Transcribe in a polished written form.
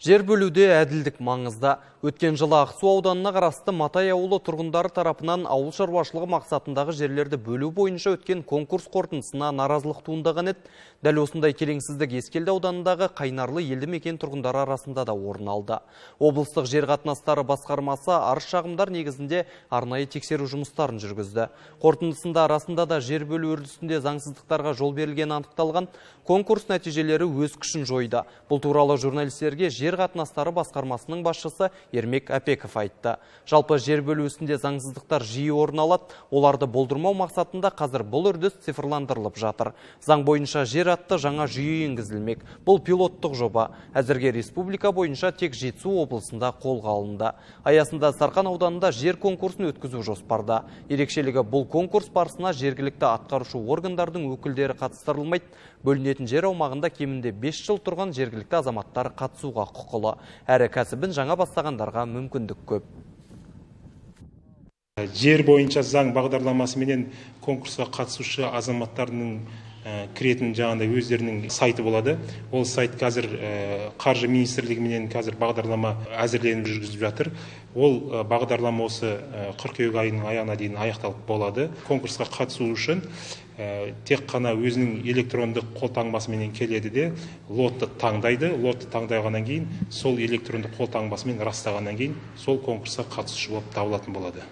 Жер бөлуде әділдік маңызда. Өткен жылы Ақсу ауданына қарасты Матай ауылы тұрғындары тарапынан ауыл шаруашылығы мақсатындағы жерлерді бөлу бойынша өткен конкурс қорытындысына наразылық туындаған еді. Дәл осындай келеңсіздік Ескелді ауданындағы Қайнарлы елді мекен тұрғындары арасында да орын алды. Облыстық жер қатынастары басқармасы арыз-шағымдар негізінде арнайы тексеру жұмыстарын жүргізді. Қорытындысында арасында да жер бөлу үрдісінде заңсыздықтарға жол берілгені анықталған. Конкурс нәтижелері өз күшін жойды. Бұл туралы журналистерге жер қатынастары басқармасының басшысы Ермек Апеков айтты. Жалпы жер бөлу ісінде заңсыздықтар жиі орын алады. Оларды болдырмау мақсатында қазір бұл үрдіс цифрландырылып жатыр. Заң бойынша жер атты жаңа жүйе енгізілмек. Бұл пилоттық жоба. Әзірге республика бойынша тек Жетісу облысында қолға алынды. Аясында Сарқан ауданында жер конкурсын өткізу жоспарда. Ерекшелігі бұл конкурс барысына жергілікті атқарушы органдардың өкілдері қатыстырылмайды. Бөлінетін жер аумағында кемінде 5 жыл тұрған жергілікті азаматтар қатысуға құқылы. Әрі кәсібін жаңа бастағандарға мүмкіндік көп. Жер бойынша заң бағдарламасы менен конкурсқа қатысушы азаматтардың кіретін жаңағыдай өздерінің сайты болады. Ол сайт қазір қаржы министрлігіменен қазір бағдарлама әзірленіп жүргізіліп жатыр. Ол бағдарлама осы қыркүйек айының аяғына дейін аяқталып болады. Конкурсқа қатысу үшін тек қана өзінің электрондық қолтаңбасымен келеді де лотты таңдайды. Лотты таңдағаннан кейін сол электрондық қолтаңбасымен растағаннан кейін сол конкурсқа қатысушы болып табылатын болады.